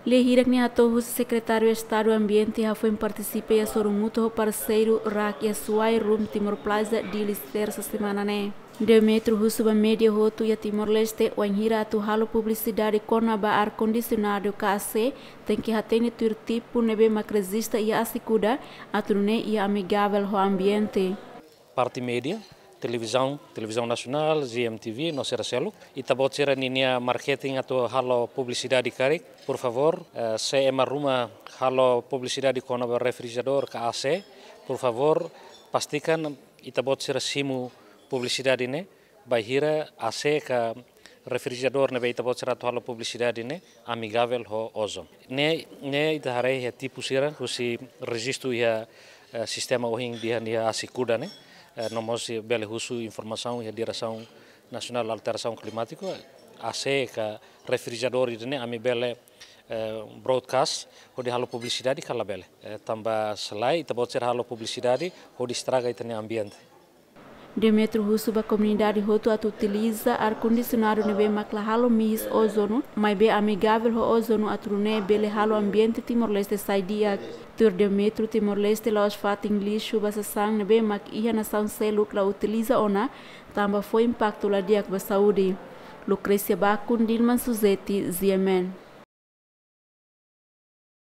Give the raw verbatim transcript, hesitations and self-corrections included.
Lia hirak ne'e hato'o husi Sekretáriu Estadu Ambiente hafoin partisipa iha sorumutu ho parseiru RAK iha Suai Room Timor Plaza, Dili, Tersa semana ne'e. Demetrio husu ba média hotu iha Timor-Leste, wainhira atu halo publisidade kona-ba ar-kondisionadu ka A C, tenke hatene tuir tipu ne'ebé mak rejista iha ASECUDA, atu nune'e iha amigavel ho ambiente. Parte média, televizaun, Televizaun Nasionál, G M T V, no sira seluk. Ita-boot sira ninia marketing atu halo publisidade karik, por favór, eh, se ema ruma halo publisidade kona-ba refrijeradór ka A C, por favór, pastikan ita-boot sira simu publisidade ne'e, bainhira A C ka refrijeradór ne'ebé ita-boot sira atu halo publisidade ne'e amigavel ho ozon. Ne'e, ne'e ita haree iha tipu sira, husi rejistu iha, eh, sistema ohin iha, iha ASECUDA ne'e, eh, no mós bele husu informasaun iha Diresaun Nasionál Alterasaun Klimátika, A C ka refrijeradór ida-ne'e ami bele, eh, broadcast, hodi halo publisidade ka labele. Eh, tanba se lae, ita-boot sira halo publisidade, hodi estraga ita-nia ambiente. Demetrio husu ba komunidade hotu atu utiliza ar-kondisionadu ne'ebé mak la halo mihis ozonu, maibé amigavel ho ozonu, atu nune'e bele halo ambiente Timor-Leste sai di'ak. Tuir Demetrio, Timor-Leste la'ós fatin lixu ba sasán ne'ebé mak iha nasaun seluk la utiliza ona, tanba fó impaktu la di'ak ba saúde. Lucrecia Bacun, Dilman Suzeti, G M N.